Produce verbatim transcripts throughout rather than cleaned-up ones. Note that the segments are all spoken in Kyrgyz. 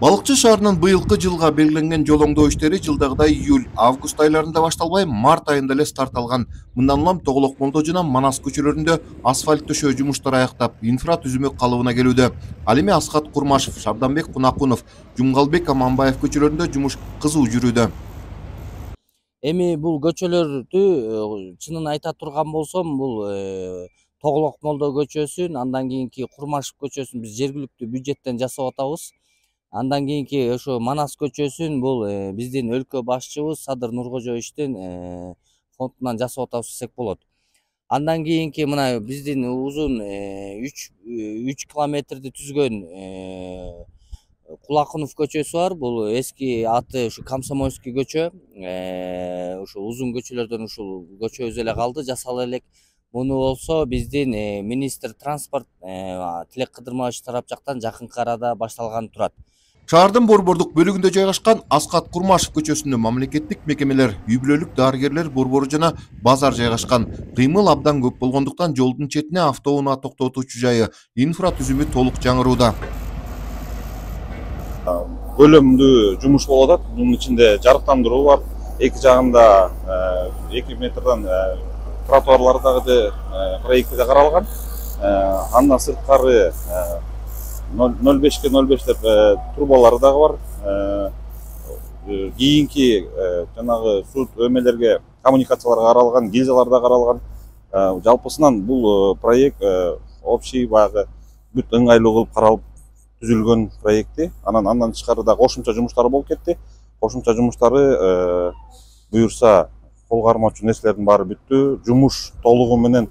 Балыкчы шаарынын быйылкы жылга белгиленген жол оңдоо иштери жылдагыдай июль, август айларында башталбай, март айында эле старт алган. Мындан улам Тоголок молдо жана Манас көчөлөрүндө асфальт төшөө жумуштары аяктап, инфра түзүмү калыбына келүүдө. Ал эми Аскат Курмашев, Шабданбек Кунакунов, Жумгалбек Аманбаев көчөлөрүндө жумуш кызуу жүрүүдө. Эми бул көчөлөрдү чынын айта турган болсом, бул Тоголок молдо көчөсүн, андан кийинки Курмашев көчөсүн биз жергиликтүү бюджеттен жасап атабыз. Андан кийинки ошо Манас көчөсүн бул биздин өлкө башчыбыз Садыр Нуркожоевичтин фондунан жасап атабыз десек болот. Андан кийинки мына биздин узун үч километрди түзгөн Кулакунов көчөсү бар. Бул эски аты ушу Комсомольский көчө. Ушу узун көчөлөрдөн ушул көчөбүз эле калды, жасала элек. Муну болсо биздин министр транспорт Тилек Кыдырманович тарап жактан жакынкы арада башталганы турат. Шаардын борбордук бөлүгүндө жайгашкан Аскат Курмашев көчөсүндө мамлекеттик мекемелер, үй бүлөлүк дарыгерлер борбору жана базар жайгашкан. Кыймыл абдан көп болгондуктан жолдун четине автоунаа токтотуучу жайы, инфра түзүмү толук жаңырууда. Бөлүмдүү жумуш болуп атат. Мунун ичинде жарыктандыруу бар. Эки жагында эки метрден тротуарлар дагы проектиде каралган. Андан сырткары ноль бешке ноль беш деп трубалары дагы бар. Кийинки жанагы суу өмелерге, коммуникацияларга каралган, гильзалар да каралган. Жалпысынан бул проект общий баягы бүт ыңгайлуу кылып каралып түзүлгөн проекти. Анан андан тышкары да кошумча жумуштар болуп кетти. Кошумча жумуштары буюрса кол кармоочу нерселердин баары бүттү. Жумуш толугу менен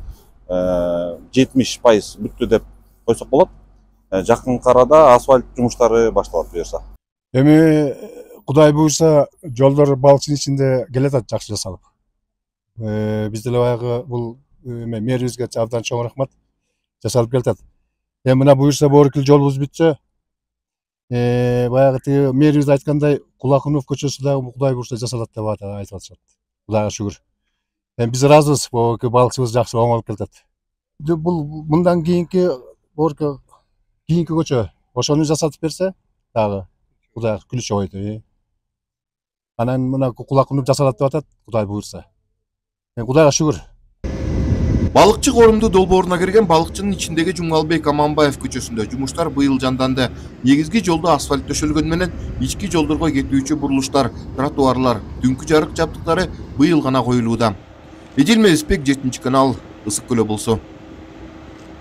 жетимиш пайыз бүттү деп койсок болот. Жакынкы арада асфальт жумуштары башталат буюрса. Эми Кудай буюрса жолдор балыкчынын ичинде келатат жакшы жасалып. Биз деле баягы бул мэрибизге абдан чоң рахмат, жасалып келатат. Эми мына буюрса борукил жолубуз бүтсө, баягы тиги мэрибиз айткандай Кулакунов көчөсү дагы Кудай буюрса жасалат деп айтып атышат. Кудайга шүгүр. Эми биз ыраазыбыз, бул балыкчыбыз жакшы оңолуп келатат. Бул мындан кийинки борукил кийинки көчө ошону жасатып берсе дагы Кудай күлүчү ойду. Анан мына Кулакунов жасалат деп атат, Кудай буюрса. Кудайга шүгүр. Балыкчы коомдуу долбооруна кирген балыкчынын ичиндеги Жумгалбек Аманбаев көчөсүндө жумуштар быйыл жанданды. Негизги жолдо асфальт төшөлгөнү менен ички жолдорго кетүүчү бурулуштар, тротуарлар, түнкү жарык жабдыктары быйыл гана коюлууда. Эдил Мелисбек, жетинчи канал, Ысык Көл облусу.